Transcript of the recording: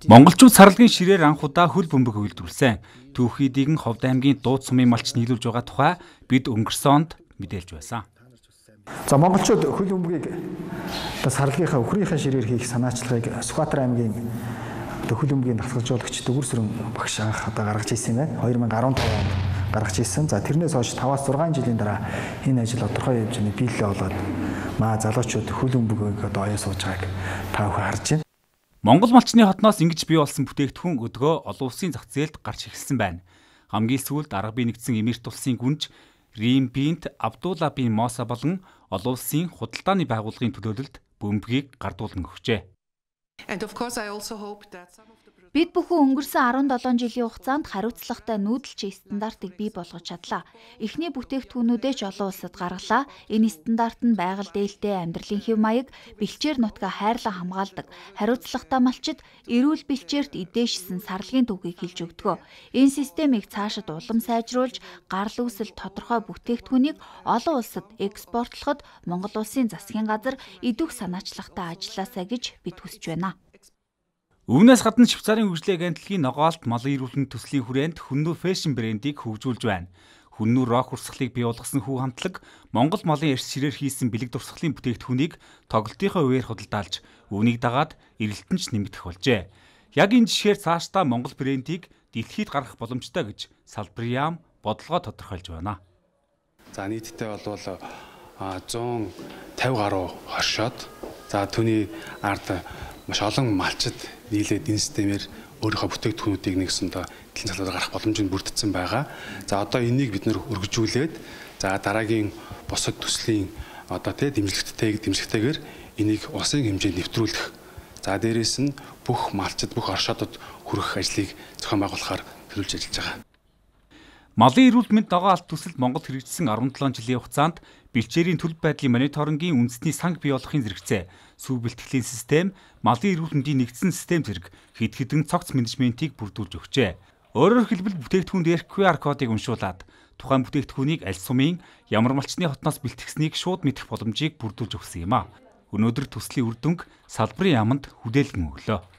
Монголчууд сарлагын ширээр анх удаа хөл бөмбөг үйлдвэрлэсэн. Түүхийдийг нь Ховд аймгийн Дууд сумын малч нийлүүлж байгаа тухай бид өнгөрсөн онд мэдээлж байсан. За монголчууд хөл бөмбөгийг сарлагынхаа өхрийнхээ ширээр хийх санаачлагыг Сүхбаатар аймгийн хөл бөмбөгийн дасгалжуулагч Дөгөр Сүрэн багш анх гаргаж ирсэн юм байна. 2015 онд гаргаж ирсэн. За тэрнээс хойш 5-6 жилийн дараа энэ ажил тодорхой хэмжээний биелэлээ болоод залуучууд хөл бөмбөгийг оёо сууж байгааг та бүхэн харж байна. Монгол малчны хотноос ингэж бий болсон бүтээгдэхүүн өдгөө олон улсын зах зээлд гарч ирсэн байна. Хамгийн сүүлд Арга бие нэгдсэн Эмирт улсын гүнж Рим бинт Абдулла бин Моса болон олон улсын худалдааны байгууллагын төлөөлөлд бөмбөгийг гардуулан өгчээ. Бид бүхэн өнгөрсөн 17 жилийн хугацаанд хариуцлагатай нүүдэлчин стандартыг бий болгож чадлаа. Эхний бүтээгдэхүүнүүдээ ч олон улсад гаргалаа. Энэ стандарт нь байгаль дээлтэй амьдралын хэв маяг, бэлчээр нутгаа хайрлан хамгаалдаг, хариуцлагатай малчид эрүүл бэлчээрт эдээшсэн сарлагын түүхийг хэлж өгдөг. Энэ системийг цаашид улам сайжруулж, гарал үүсэл тодорхой бүтээгдэхүүнийг олон улсад экспортлоход Монгол улсын засгийн газар идэх санаачлагтай ажилласаа гэж бид хүсэж байна. Үүнээс гадна Швейцарын хөгжлийн агентлагийн ногоолт малын эрүүл мэндийн төслийн хүрээнд Хүннү фэшн брендийг хөгжүүлж байна. Хүннү рок урсгалыг бий болгосон хүү хамтлаг Монгол малын эрс ширээр хийсэн бэлэг дурсгалын бүтээгдэхүүнийг тоглолтынхаа үеэр худалдаалж, үүнийг дагаад эрэлтэн ч нэмэгдэх болжээ. Яг энэ жишгээр цаашдаа Монгол брендийг дэлхийд гаргах боломжтой гэж салбарын яам бодлогоо тодорхойлж байна. За нийтдээ бол 150 гаруй хоршоод түүний ард маш олон малчид нийлээд энэ системээр өөрийнхөө бүтээгдэхүүнүүдийг нэгсэндээ дэлхийн салбараар гарах боломжийг бүрдсэн байгаа. За одоо энийг бид нэр өргөжүүлээд дараагийн босод төслийн дэмжлэгтэйгээр энийг улсын хэмжээнд нэвтрүүлэх. За дээрээс нь бүх малчид, бүх оршуудад хүрэх ажлыг зохион байгуулахаар төлөвлөж ажиллаж байгаа. Малын эрүүл мэнд ногоон алт төсөлд Монгол хэрэгжсэн 17 жилийн хугацаанд бэлчээрийн төлөв байдлын мониторингийн үндэсний санг бий болохын зэрэгцээ, сүү бэлтгэлийн систем, малын эрүүл мэндийн нэгдсэн систем зэрэг хэд хэдэн цогц менежментийг бүрдүүлж өгчээ. Өөрөөр хэлбэл бүтээгдэхүүн дээрх QR кодыг уншуулад тухайн бүтээгдэхүүнийг аль сумын ямар малчны хотноос бэлтгэснийг шууд мэдэх боломжийг бүрдүүлж өгсөн юм а. Өнөөдөр төслийн үр дүнг салбарын яамд хүлээлгэн өглөө.